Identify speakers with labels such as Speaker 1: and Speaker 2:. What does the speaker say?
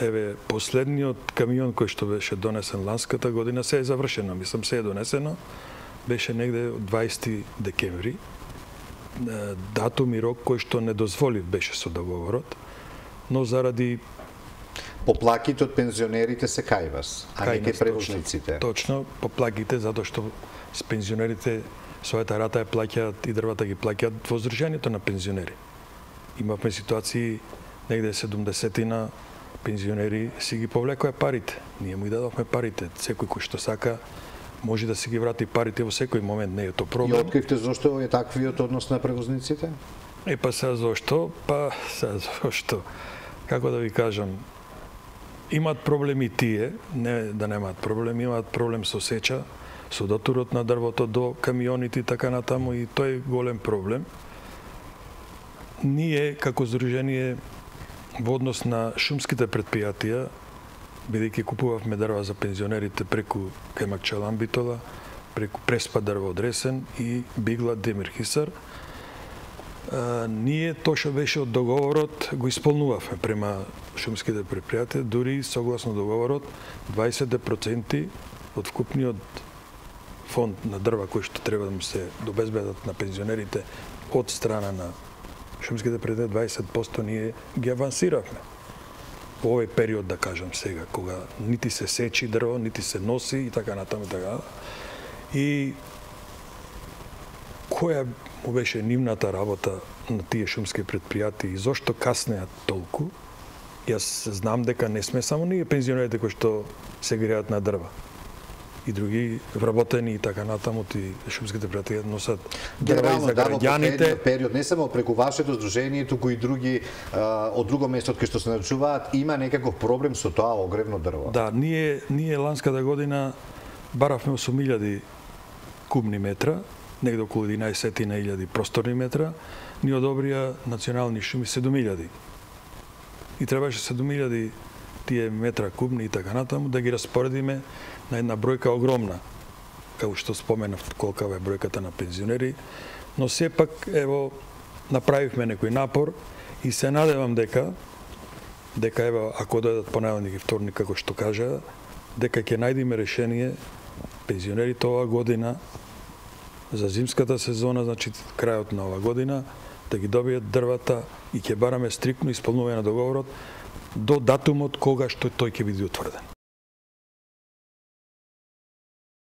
Speaker 1: Еве, последниот камион кој што беше донесен ланската година се е завршено, мислам се е донесено, беше негде 20 декември. Датум и рок кој што не дозволив беше со договорот, но заради
Speaker 2: поплаките од пензионерите се кај вас, а не кај превозниците.
Speaker 1: Точно, поплаките затоа што с пензионерите својата рата ја плаќаат и дрвата ги плаќаат во Сдруженијето на пензионери. Имавме ситуации негде 70-тина пензионери си ги повлекоа парите. Ние му ги дадовме парите. Секој кој што сака може да си ги врати парите во секој момент, не е тоа проблем.
Speaker 2: И откривте зошто е таквиот однос на превозниците?
Speaker 1: Сега зошто? Зошто? Како да ви кажам, имаат проблеми тие, не да немаат проблем, имаат проблем со сеча, со дотурот на дрвото до камионите и така натаму, и тој е голем проблем. Ние, како Сдружение, во однос на шумските предпријатија, бидејќи купувавме дрва за пензионерите преку Кајмакчалан Битола, преку Преспа дрво од Ресен и Бигла Демирхисар, ние тоа што беше од договорот го исполнувавме према шумските предпријатија, дури согласно договорот 20% од вкупниот фонд на дрва кој што треба да му се обезбедат на пензионерите од страна на шумските предпријатија, 20% ние ги авансиравме. Во овој период, да кажам сега, кога нити се сечи дрво, нити се носи и така натаму и така. И која му беше нивната работа на тие шумски предпријатија и зошто каснеат толку? Јас знам дека не сме само ние пензионерите кои што се греат на дрва. И други вработени и така натаму, и шумските предпријатија носат дрва и за граѓаните.
Speaker 2: Период не само преку вашето здружение, туку и други од друго место од кај што се начуваат, има некаков проблем со тоа огревно дрво.
Speaker 1: Да, ние ланската година баравме 8.000 кубни метра, негде околу 11.000 просторни метра, ни одобрија национални шуми 7.000. И требаше 7.000 тие метра кубни и така натаму да ги распоредиме на една бројка огромна, како што споменав колкава е бројката на пензионери, но сепак ево направивме некој напор и се надевам дека ево ако дојдат понеделник и вторник како што кажа, дека ќе најдеме решение пензионерите оваа година за зимската сезона, значи крајот на оваа година, да ги добијат дрвата и ќе бараме стриктно исполнување на договорот до датумот кога што тој ќе биде утврден.